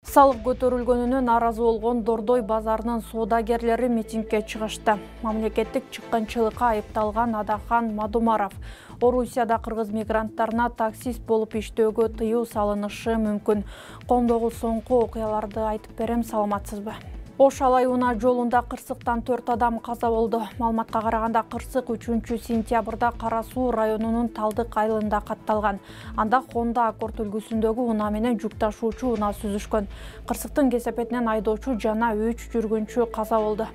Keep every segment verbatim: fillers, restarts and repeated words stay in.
Салык көтөрүлгөнүнө нааразы болгон Дордой базарынын соодагерлери митингге чыгышты. Мамлекеттик чыккынчылыкка айыпталган Адахан Мадумаров Орусияда кыргыз мигранттарына таксист болуп иштөөгө тыюу салынышы мүмкүн. Коомдогу соңку окуяларды айтып берем, саламатсызбы? Ош алайуна жолунда кырсыктан төрт адам каза болду. Маалыматка караганда кырсык үчүнчү сентябрда Кара Суу районунун Талдык айылында катталган. Анда Honda Accord үлгүсүндөгү унаа менен жүк ташуучу унаа сүзүшкөн. Кырсыктын кесепетинен айдоочу жана үч жүргүнчү каза болду.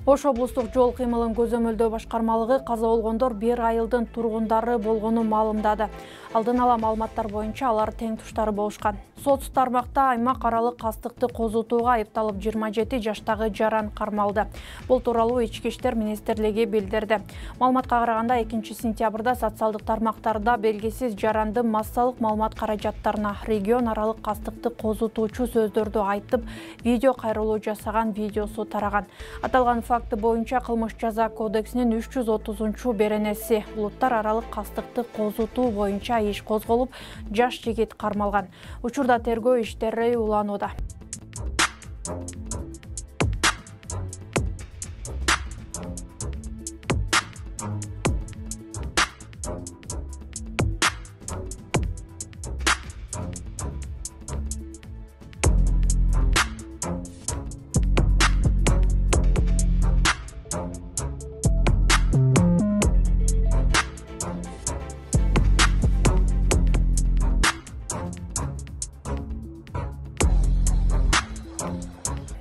Ош облустук жол кыймылын көзөмөлдөө башкармалыгы каза болгондор бир айылдын тургундары болгонун маалымдады. Алдын ала маалыматтар боюнча алар тең туштары болушкан. Сот тармакта аймак аралык кастыкты козутууга айыпталып жыйырма жети жаштагы жаран кармалды. Бул тууралуу Ички иштер министрлиги билдирди. Маалыматка караганда экинчи сентябрда социалдык тармактарда белгисиз жарандын массалык маалымат каражаттарына регион аралык кастыкты козутуучу сөздөрдү айтып, видео кайрылуу жасаган видеосу тараган. Аталган факты боюнча кылмыш жаза кодексинин үч жүз отузунчу беренеси улуттар аралык кастыкты козутуу боюнча иш козголуп, жаш жигит кармалган. Учурда тергөө иштери уланууда.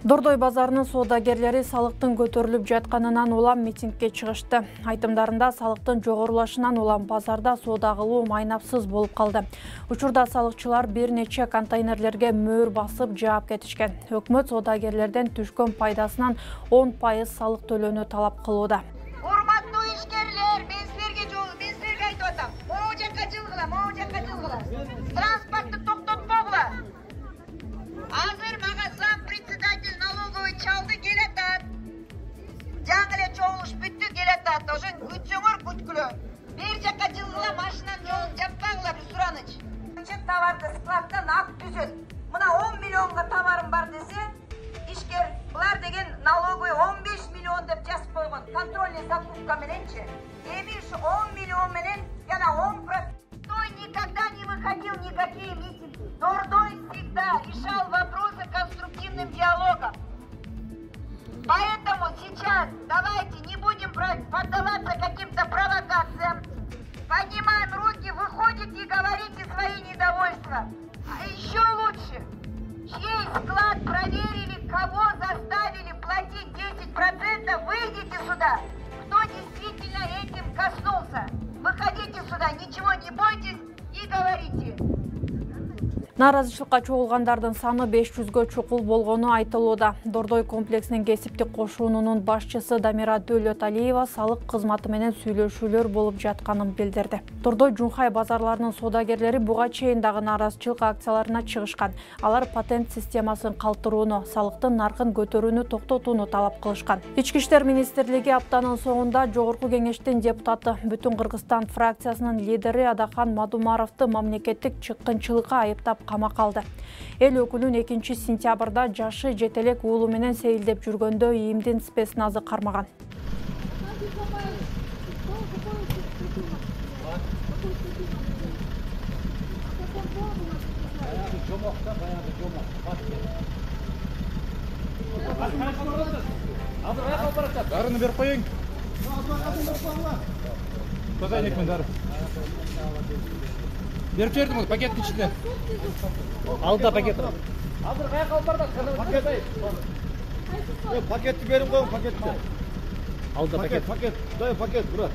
Дордой базарынын соодагерлери салыктын көтөрүлүп жатканынан улам митингге чыгышты. Айтымдарында салыктын жогорулашынан улам базарда соода кылуу майнапсыз болуп калды. Учурда салыкчылар бир нече контейнерлерге мөөр басып жаап кетишкен. Өкмөт соодагерлерден түшкөн пайдасынан он пайыз салык төлөөнү талап кылууда. Урматтуу ишкерлер, мен силерге жол, мен силерге айтып атам. Могу жакка жылгыла, могу жакка жылгыла. Транспортты токтотпогула. Азыр мага зам председатель налоговый чалды келатат. Жаңы эле чогулуш бүттү, келатат. Ошо күтсөңөр күткүлө. Бир жакка жылгыла, машинанын жолун жаппагыла, бир сураныч. Чек товарды складтан ак түзөт. Мына он миллионго товарым бар десе, ишкер булар деген налоговый он беш миллион деп жазып койгон. Контрольный закупка мененчи. Эми ушу он миллион менен жана он процент. Той никогда не выходил никакие митинги. Дордой всегда решал вопросы конструктивным диалогом. Поэтому сейчас давайте не будем поддаваться каким-то провокациям. Поднимаем руки, выходите и говорите свои недовольства. А еще лучше, чей склад проверили, кого заставили платить десять процентов, выйдите сюда. Кто действительно этим коснулся? Выходите сюда, ничего не бойтесь и говорите. Нааразычылыкка чогулгандардын саны беш жүзгө чукул болгону айтылууда. Дордой комплексинин кесиптик кошуунунун башчысы Дамира Дөөлөталиева салык кызматы менен сүйлөшүүлөр болуп жатканын билдирди. Дордой Жунхай базарларынын соодагерлери буга чейин дагы нааразычылык акцияларына чыгышкан. Алар патент системасын калтырууну, салыктын наркын көтөрүүнү токтотууну талап кылышкан. Ички иштер министрлиги аптанын соңунда Жогорку кеңештин депутаты, Бүтүн Кыргызстан фракциясынын лидери Адахан Мадумаровду мамлекеттик чыккынчылыкка айыптап камакка алды. Эл өкүлүн экинчи сентябрда жашы жетелек уулу менен сейилдеп жүргөндө ийимдин спецназы кармаган. Дарыны берип коюң. Козайник мен дары. Беріп жердім, пакеттің ішінде. Алда пакет. Азыр қаяқ алып барды? Пакетті беріп қойың, пакетті. Алда пакет. Пакет, дай пакет, брат.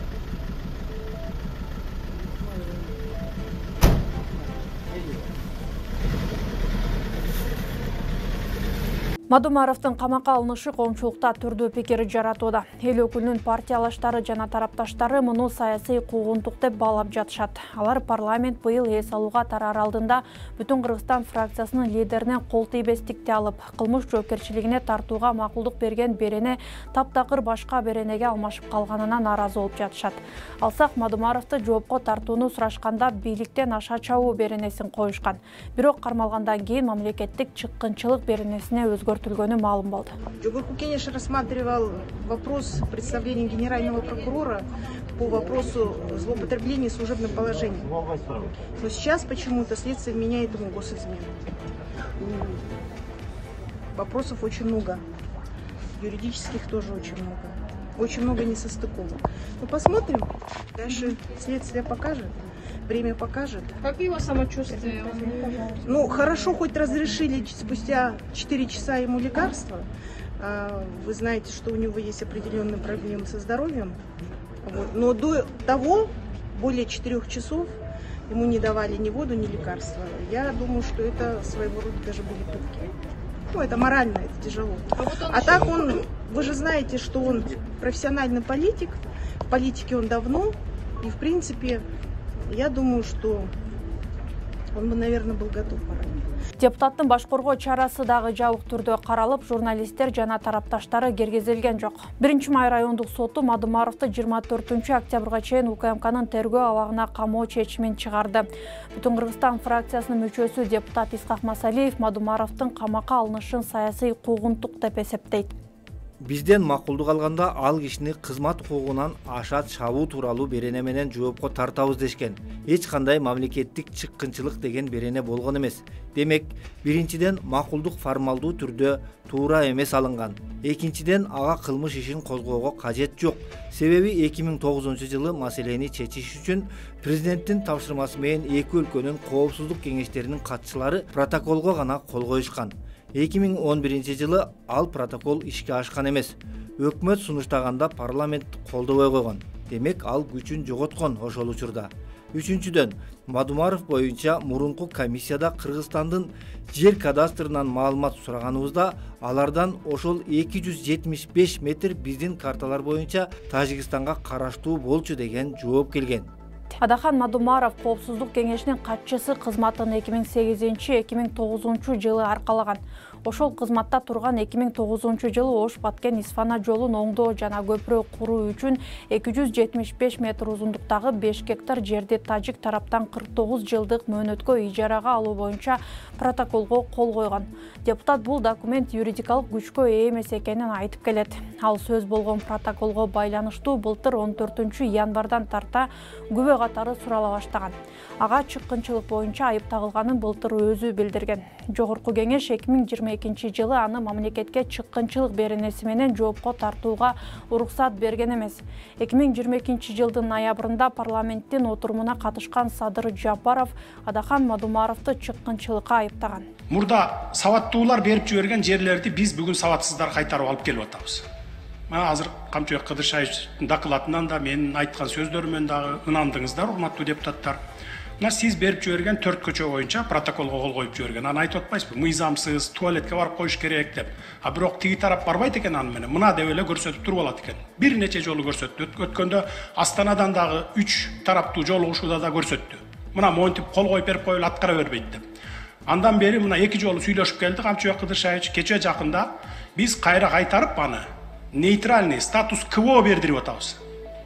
Мадумаровдун камакка алынышы коомчулукта түрдүү пикир жаратууда. Эл өкүлүнүн партиялаштары жана тарапташтары муну саясий куугунтук деп баалап жатышат. Алар парламент быйыл эс алууга тараар алдында Бүтүн Кыргызстан фракциясынын лидеринен кол тийбестикти алып, кылмыш жоопкерчилигине тартууга макулдук берген берене таптакыр башка беренеге алмашып калганына нааразы болуп жатышат. Алсак Мадумаровду жоопко тартууну сурашканда бийликтен аша чабуу беренесин коюшкан. Бирок кармалгандан кийин мамлекеттик чыккынчылык беренесине өзгөртүлгөнү маалым болду. ЖКХ Кенеш рассматривал вопрос представления генерального прокурора по вопросу злоупотребления служебным положением. Но сейчас почему-то следствие меняет ему госизмену. Вопросов очень много. Юридических тоже очень много. Очень много несостыковок. Ну, посмотрим. Дальше следствие покажет. Время покажет. Как его самочувствие? Ну, хорошо, хоть разрешили спустя четыре часа ему лекарства. Вы знаете, что у него есть определенные проблемы со здоровьем. Вот. Но до того, более четырех часов, ему не давали ни воду, ни лекарства. Я думаю, что это своего рода даже были пытки. Ну, это морально, это тяжело. А, вот а так он, вы же знаете, что он профессиональный политик. В политике он давно. И, в принципе, я думаю, что он бы, наверное, был готов морально. Депутаттын баш коргоо чарасы дагы жабык түрдө каралып, журналисттер жана тарапташтары киргизилген жок. биринчи май райондук соту Мадумаровду жыйырма төртүнчү октябрга чейин УКМКнын тергөө абагына камоо чечимин чыгарды. Бүтүн Кыргызстан фракциясынын мүчөсү депутат Исхак Масалиев Мадумаровдун камакка алынышын саясий куугунтук деп эсептейт. Бизден макулдук алганда ал кишини кызмат укугунан аша чабуу тууралуу берене менен жоопко тартабыз дешкен. Эч кандай мамлекеттик чыккынчылык деген берене болгон эмес. Демек, биринчиден макулдук формалдуу түрдө туура эмес алынган. Экинчиден ага кылмыш ишин козгоого кажет жок. Себеби эки миң тогузунчу жылы маселени чечиш үчүн президенттин тапшырмасы менен эки өлкөнүн коопсуздук кеңештеринин катчылары протоколго гана кол коюшкан. эки миң он биринчи жылы ал протокол ишке ашкан эмес. Өкмөт сунуштаганда парламент колдобой койгон. Демек, ал күчүн жоготкон ошол учурда. Үчүнчүдөн, Мадумаров боюнча мурунку комиссияда Кыргызстандын жер кадастрынан маалымат сураганыбызда, алардан ошол эки жүз жетимиш беш метр биздин карталар боюнча Тажикстанга караштуу болчу деген жооп келген. Адахан Мадумаров коопсуздук кеңешинин катчысы кызматын эки миң сегизинчи — эки миң тогузунчу жылы аркалаган. Ошол кызматта турган эки миң тогузунчу жылы Ош-Баткен Исфана жолун оңдоо жана көпүрө куруу үчүн эки жүз жетимиш беш метр узундуктагы беш гектар жерди тажик тараптан кырк тогуз жылдык мөөнөткө ижарага алуу боюнча протоколго кол койгон. Депутат бул документ юридикалык күчкө ээ эмес экенин айтып келет. Ал сөз болгон протоколго байланыштуу былтыр он төртүнчү январдан тарта күбө катары сурала баштаган. Ага чыккынчылык боюнча айып тагылганын былтыр өзү билдирген. Жогорку кеңеш эки миң жыйырма экинчи жылы аны мамлекетке чыккынчылык беренеси менен жоопко тартууга уруксат берген эмес. эки миң жыйырма экинчи жылдын ноябрында парламенттин отурумуна катышкан Садыр Жапаров Адахан Мадумаровду чыккынчылыкка айыптаган. Мурда сабаттуулар берип жиберген жерлерди биз бүгүн сабатсыздар кайтарып алып келип атабыз. Мына азыр Камчыбек Кыдыршаевичтин докладынан да менин айткан сөздөрүмөн дагы ынандыңыздар, урматтуу депутаттар. Мына сиз берип жиберген төрт көчө боюнча протоколго кол коюп жиберген. Аны айтып атпайсызбы? Мыйзамсыз, туалетке барып коюш керек деп. А бирок тиги тарап барбайт экен аны менен. Мына деп эле көрсөтүп туруп алат экен. Бир нече жолу көрсөттү. Өткөндө Астанадан дагы үч тараптуу жолугушууда да көрсөттү. Мына монтип кол коюп берип коюп аткара бербейт деп. Андан бери мына эки жолу сүйлөшүп келди Камчыбек Кыдыршаевич. Кече жакында биз кайра кайтарып аны нейтральный статус КВО бердирип атабыз.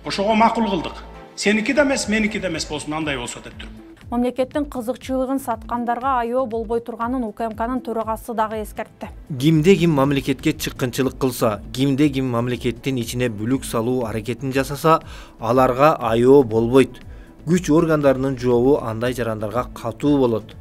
Ошого макул кылдык. Сеники да эмес, меники да эмес болсун, андай болсо деп туруп. Мамлекеттин кызыкчылыгын саткандарга айоо болбой турганын УКМКнын төрагасы дагы эскертти. Кимде ким мамлекетке чыккынчылык кылса, кимде ким мамлекеттин ичине бүлүк салуу аракетин жасаса, аларга айоо болбойт. Күч органдарынын жообу андай жарандарга катуу болот.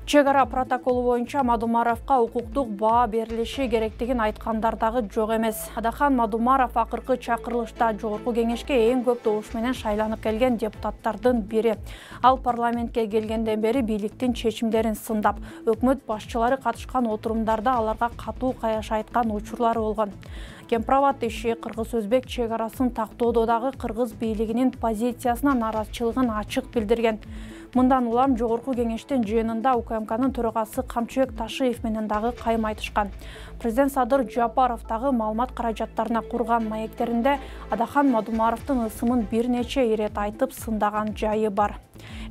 Чек ара протоколу боюнча Мадумаровго укуктук баа берилиши керектигин айткандар дагы жок эмес. Адахан Мадумаров акыркы чакырылышта жогорку кеңешке эң көп добуш менен шайланып келген депутаттардын бири. Ал парламентке келгенден бери бийликтин чечимдерин сындап, өкмөт башчылары катышкан отурумдарда аларга катуу каяш айткан учурлары болгон. Кемпирабад иши кыргыз-өзбек чек арасын тактоодогу кыргыз бийлигинин позициясына нааразычылыгын ачык билдирген. Мындан улам жогорку кеңештин жыйынында УКМКнын төрагасы Камчыбек Ташиев менен дагы кайым айтышкан. Президент Садыр Жапаров дагы маалымат каражаттарына курган маектеринде Адахан Мадумаровдун ысымын бир нече ирет айтып сындаган жайы бар.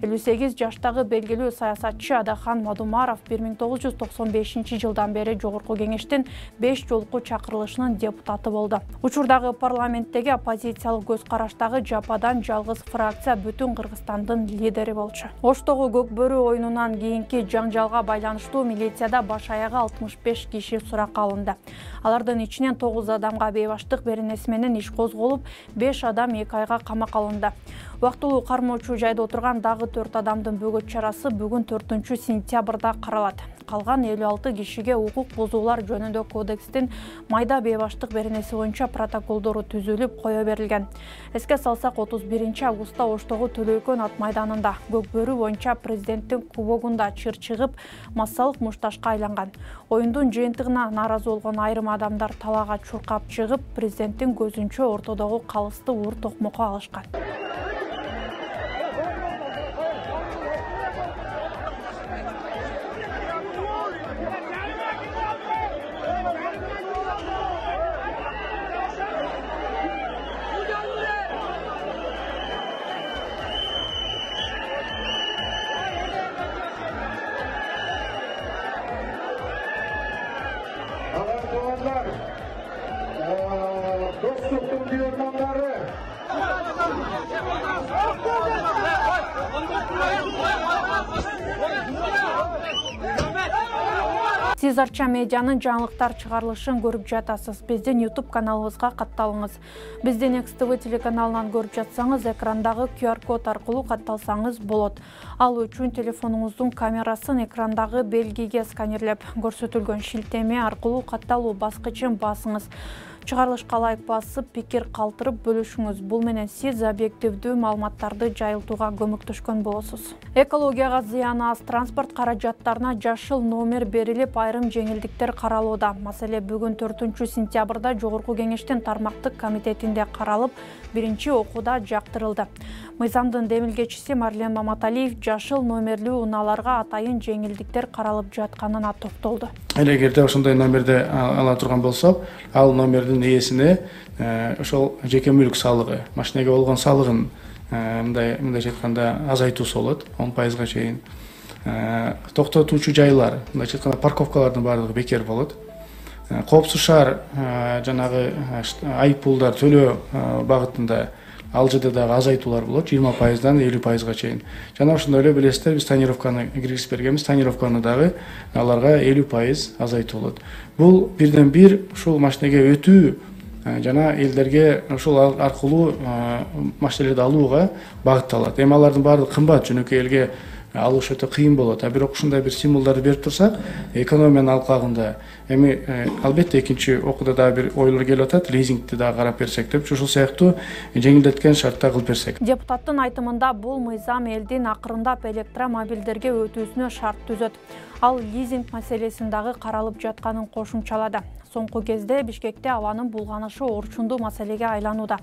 элүү сегиз жаштагы белгилүү саясатчы Адахан Мадумаров бир миң тогуз жүз токсон бешинчи жылдан бери жогорку кеңештин беш жолку чакырылышынын депутаты болду. Учурдагы парламенттеги оппозициялык көз караштагы жападан жалгыз фракция бүтүн Кыргызстандын лидери болчу. Оштогу Көкбөрү оюнунан кийинки жаңжалга байланыштуу милицияда баш аягы алтымыш беш киши суракка алынды. Алардын ичинен тогуз адамга бейбаштык беренеси менен иш козголуп, беш адам эки айга камакка алынды. Убактылуу кармоочу жайда отурган дагы төрт адамдын бөгөт чарасы бүгүн төртүнчү сентябрда каралат. Калган элүү алты кишиге укук бузуулар жөнүндө кодекстин майда бейбаштык беренеси боюнча протоколдору түзүлүп кое берилген. Эске салсак, отуз биринчи августта Оштогу Төлөйкөн ат майданында Көкбөрү боюнча президенттин кубогунда чыр чыгып, массалык мушташка айланган. Оюндун жыйынтыгына нааразы болгон айрым адамдар талаага чуркап чыгып, президенттин көзүнчө ортодогу калысты уур токмокко алышкан. Достуктун дүйөрмандары. Сиз Арча медианын жаңылыктар чыгарылышын көрүп жатасыз. Биздин YouTube каналыбызга катталыңыз. Биздин Экс Тэ Вэ телеканалынан көрүп жатсаңыз, экрандагы ку ар код аркылуу катталсаңыз болот. Ал үчүн телефонуңуздун камерасын экрандагы белгиге сканерлеп көрсөтүлгөн шилтеме аркылуу катталуу баскычын басыңыз. Чыгарылышка лайк басып, пикир калтырып бөлүшүңүз. Бул менен сиз объективдүү маалыматтарды жайылтууга көмөктөшкөн болосуз. Экологияга зыяны аз транспорт каражаттарына жашыл номер берилип, айрым жеңилдиктер каралууда. Маселе бүгүн төртүнчү сентябрда жогорку кеңештин тармактык комитетинде каралып, биринчи окууда жактырылды. Мыйзамдын демилгечиси Марлен Маматалиев жашыл номерлүү унааларга атайын жеңилдиктер каралып жатканына токтолду. Эгерде ошондой номерди ала турган болсок, ал номердин ээсине ошол жеке мүлк салыгы, машинеге болгон салыгын мындай мындайча айтканда азайтуусу болот, он пайызга чейин. Токтотуучу жайлар, мындайча айтканда парковкалардын баардыгы бекер болот. Коопсуз шаар жанагы айыппулдар төлөө багытында ал жерде дагы азайтуулар болот, жыйырма пайыздан элүү пайызга чейин. Жана ошондой эле билесиздер, биз тонировканы киргизип бергенбиз, тонировканы дагы аларга элүү пайыз азайтуу болот. Бул бирден бир ушул машинеге өтүү жана элдерге ушул аркылуу машиналарды алууга багытталат. Эми алардын баардыгы кымбат, жөнөкөй элге алыш өтө кыйын болот. А бирок ушундай бир стимулдарды берип турсак, экономиянын алкагында эми албетте экинчи окууда дагы бир ойлор келип атат, лизингти дагы карап берсек деп, ушул сыяктуу жеңилдеткен шартта кылып берсек. Депутаттын айтымында бул мыйзам элдин акырындап электромобилдерге өтүүсүнө шарт түзөт. Ал лизинг маселесин дагы каралып жатканын кошумчалады. Соңку кезде Бишкекте абанын булганышы орчундуу маселеге айланууда.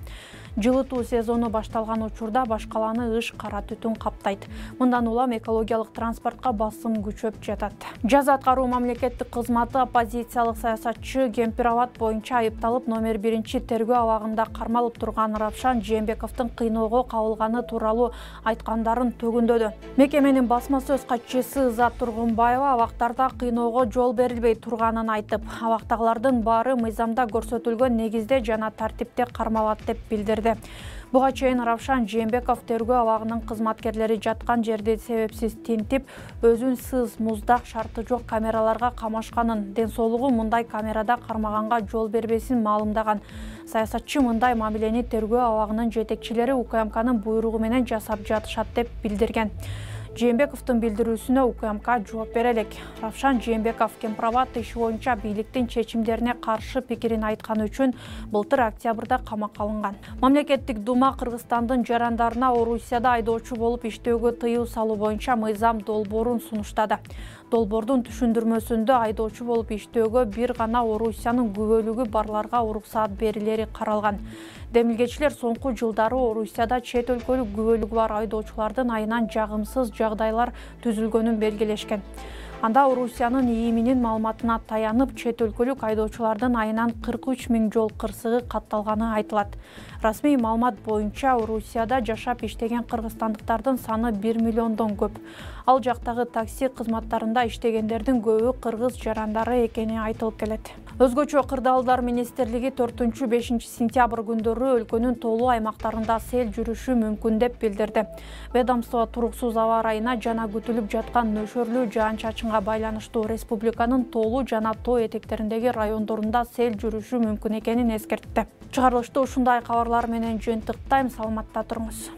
Жылытуу сезону башталган учурда баш каланы ыш кара түтүн каптайт. Мындан улам экологиялык транспортко басым күчөп жатат. Жаза аткаруу мамлекеттик кызматы оппозициялык саясатчы Кемпирабад боюнча айыпталып номер биринчи тергөө абагында кармалып турган Равшан Жээнбековдун кыйноого кабылганы тууралуу айткандарын төгүндөдү. Мекеменин басма сөз катчысы Ызат Тургунбаева абактарда кыйноого жол берилбей турганын айтып, абактагылардын баары мыйзамда көрсөтүлгөн негизде жана тартипте кармалат деп билдирди. Буга чейин Равшан Жээнбеков тергөө абагынын кызматкерлери жаткан жерди себепсиз тинтип, өзүн сыз, муздак, шарты жок камераларга камашканын, ден соолугу мындай камерада кармаганга жол бербесин маалымдаган. Саясатчы мындай мамилени тергөө абагынын жетекчилери УКМКнын буйругу менен жасап жатышат деп билдирген. Жээнбековдун билдирүүсүнө УКМК жооп бере элек. Равшан Жээнбеков Кемпирабад иши боюнча бийликтин чечимдерине каршы пикирин айтканы үчүн былтыр октябрда камакка алынган. Мамлекеттик дума Кыргызстандын жарандарына Орусияда айдоочу болуп иштөөгө тыюу салуу боюнча мыйзам долбоорун сунуштады. Долбоордун түшүндүрмөсүндө айдоочу болуп иштөөгө бир гана Орусиянын күбөлүгү барларга уруксаат берилери каралган. Демилгечилер соңку жылдары Орусияда чет өлкөлүк күбөлүгү бар айдоочулардын айынан жагымсыз жагдайлар түзүлгөнүн белгилешкен. Анда Орусиянын ИИМинин маалыматына таянып, чет өлкөлүк айдоочулардын айынан кырк үч миң жол кырсыгы катталганы айтылат. Расмий маалымат боюнча Орусияда жашап иштеген кыргызстандыктардын саны бир миллиондон көп. Ал жактагы такси кызматтарында иштегендердин көбү кыргыз жарандары экени айтылып келет. Өзгөчө Кырдаалдар министрлиги төртүнчү бешинчи сентябрь күндөрү өлкөнүн тоолуу аймактарында сел жүрүшү мүмкүн деп билдирди. Ведомство туруксуз аба ырайына жана күтүлүп жаткан нөшөрлүү жаан-чачынга байланыштуу республиканын тоолуу жана тоо этектериндеги райондорунда сел жүрүшү мүмкүн экенин эскертти. Чыгарылышты ушундай кабарлар менен жыйынтыктайм. Саламатта туруңуз.